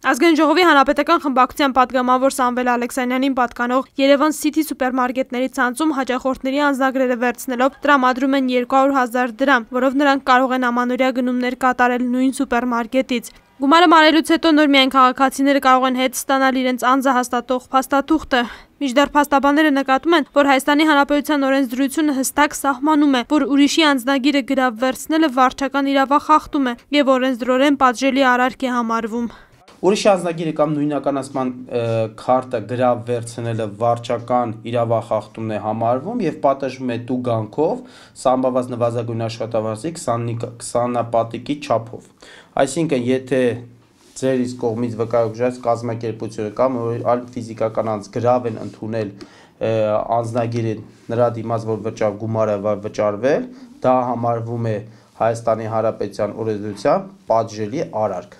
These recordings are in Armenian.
Ազգային ժողովի հանրապետական խմբակցության պատգամավոր Սամվել Ալեքսանյանին պատկանող Երևան City սուպերմարկետների ցանցում հաճախորդների անձնագրերը վերցնելով տրամադրում են 200,000 դրամ, որով նրանք կարող են ամանորյա գնումներ կատարել նույն սուպերմարկետից։ Գումարը մարելուց հետո նոր միայն քաղաքացիները կարող են հետ ստանալ իրենց անձը հաստատող փաստաթուղթը։ Մինչդեռ փաստաբանները նկատում են, որ Հայաստանի Հանրապետության օրենսդրությունը հստակ սահմանում է, որ ուրիշի անձնագիրը գրավ վերցնելը վարչական իրավախախտում է եւ օրենսդրորեն պատժելի արարք է համարվում։ Ուրիշի անձնագիրը կամ նույնականացման քարտը գրավ վերցնելը վարչական իրավախախտումն է համարվում եւ պատժվում է տուգանքով սահմանված նվազագույն աշխատավարձի 20 պատիկի չափով։ Այսինքն, եթե ձեր իսկ կողմից վկայակոչված կազմակերպությունը կամ այլ ֆիզիկական անձ գրավ են ընդունել անձնագիրը նրա դիմաց, որ գումարը վճարվել, դա համարվում է Հայաստանի Հանրապետության օրենսդրությամբ պատժելի արարք։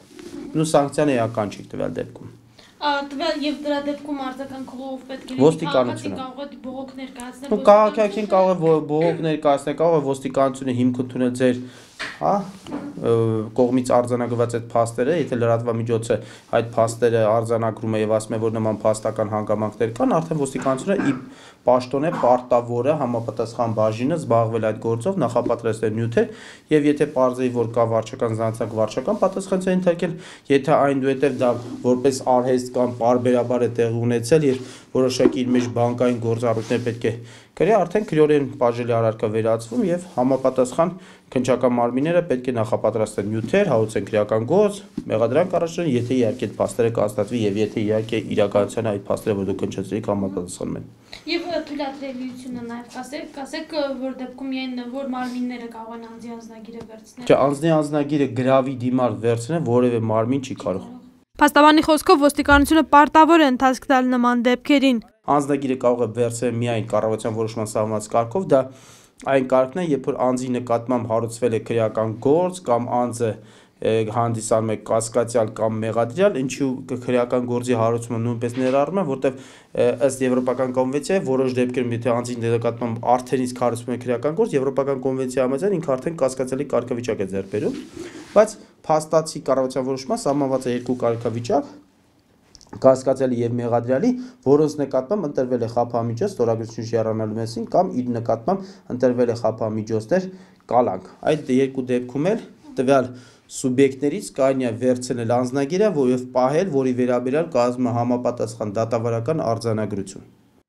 Նու սանկցիան էական չի տվյալ դեպքում։ Տվյալ եւ դրա դեպքում արձական քողով պետք է ոստիկանությունը կարող է բողոք ներկայացնել։ Ու քաղաքացին կարող է բողոք ներկայացնել, կարող է ոստիկանությունը հիմք ընդունել ձեր կողմից արձանագրված այդ փաստերը, եթե լրատվամիջոցը այդ փաստերը արձանագրում է եւ ասում է, որ նման փաստական հանգամանքներ կան, արդեն ոստիկանությունը պաշտոն է պարտավորը համապատասխան բաժինը զբաղվել այդ գործով, նախապատրաստել նյութեր եւ եթե պարզեի, որ կա վարչական զանցանք, վարչական պատասխան է ենթարկել, եթե այնուհետեւ դա որպես արհեստ կամ պարբերաբար է տեղի ունեցել եւ որոշակի իր մեջ բանկային գործառույթներ պետք է գրի, արդեն քրեորեն պատժելի արարքա վերածվում եւ համապատասխան քննչական մարմինները պետք է նախապատրաստեն նյութեր, հաղորդեն քրեական գործ, մեղադրանք առաջան, եթե իհարկե այդ փաստերը կհաստատվի եւ եթե իհարկե իրականության այդ փաստերը, որ դուք քննչեցիք, համապատասխանում են։ Եվ թույլատրելիությունը նաեւ կասեք, որ դեպքում միայն որ մարմինները կարող են անձի անձնագիրը վերցնել։ Չէ, անձի անձնագիրը գրավի դիմաց վերցնել որևէ մարմին չի կարող։ Փաստաբանի խոսքով ոստիկանությունը պարտավոր է ընթացք տալ նման դեպքերին։ Անձնագիրը կարող է վերցնել միայն կառավարության որոշման սահմանած կարգով, դա այն կարգն է, երբ որ անձի նկատմամբ հարուցվել է քրեական գործ կամ անձը հանդիսանում է կասկածյալ կամ մեղադրյալ, ինչու քրեական գործի հարուցումը նույնպես ներառում է, որտեղ ըստ Եվրոպական կոնվենցիայի որոշ դեպքերում եթե անձի նկատմամբ արդեն իսկ հարուցվում է քրեական գործ, Եվրոպական կոնվենցիայի համաձայն ինքը արդեն կասկածելի կարգավիճակ է ձեռք բերում, բայց փաստացի կառավարության որոշումը սահմանված է երկու կարգավիճակ կասկածելի եւ մեղադրյալի, որոնց նկատմամբ ընտրվել է խափամիջոց ստորագրություն շիառանալու մասին կամ իր նկատմամբ ընտրվել է խափամիջոցներ կալանք։ Այդ երկու դեպքում էլ տվյալ սուբյեկտներից կարելի է վերցնել անձնագիրը եւ պահել, որի վերաբերյալ կազմը համապատասխան դատավարական արձանագրություն։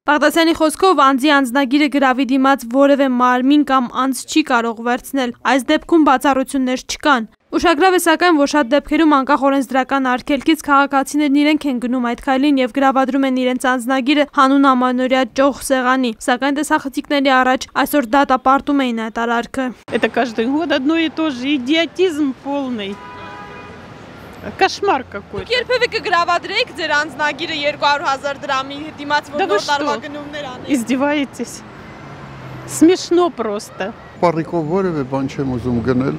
Բաղդասյանի խոսքով անձի անձնագիրը գրավի դիմաց որևէ մարմին կամ անձ չի կարող վերցնել, այս դեպքում բացառություններ չկան։ Ուշագրավ է սակայն, որ շատ դեպքերում անկախ օրենսդրական արգելքից քաղաքացիներն իրենք են գնում այդ քայլին եւ գրավադրում են իրենց անձնագիրը հանուն ամանորյա ճոխ սեղանի, սակայն տեսախցիկների առաջ այսօր դատապարտում էին այդ արարքը։ Это каждый год одно и то же, идиотизм полный. Кошмар какой-то. Երբևէ կգրավադրեիք ձեր անձնագիրը 200,000 դրամի դիմաց, որ նոր տարվա գնումներ անեք։ Издеваетесь? Смешно просто. Ապառիկով որևէ բան չեմ ուզում գնել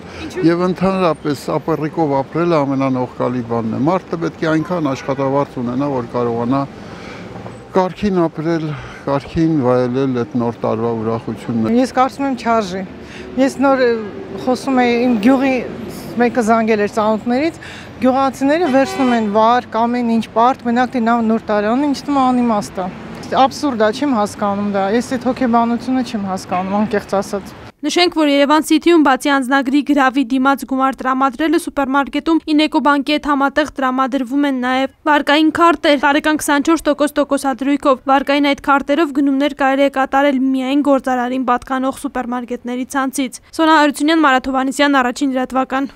եւ ընդհանրապես ապառիկով ապրելը ամենանողկալի բանն է։ Մարդը պետք է այնքան աշխատավարձ ունենա, որ կարողանա կարգին ապրել, կարգին վայելել այդ նոր տարվա ուրախությունները։ Ես կարծում եմ չարժի։ Ես նոր խոսում եի իմ գյուղի մեկը զանգել էր ծանոթներից, գյուղացիները վերցնում են վարկ, ամեն ինչ պարտ, մենակ թե նոր տարան, ինչ թվում անիմաստ է։ Աբսուրդ է, չեմ հասկանում դա։ Ես այդ հոգեբանությունը չեմ հասկանում, անկեղծ ասած։ Նշենք, որ Երևան City-ում բացի անձնագրի գրավի դիմաց գումար տրամադրելը սուպերմարկետում Ինեկոբանկի հետ համատեղ տրամադրվում են նաև վարկային քարտեր, տարեկան 24% տոկոսադրույքով։ Վարկային այդ քարտերով գնումներ կարելի է կատարել միայն գործարարին պատկանող սուպերմարկետների ցանցից։ Սոնա Հարությունյան, Մարաթ Հովհաննիսյան, Առաջին լրատվական։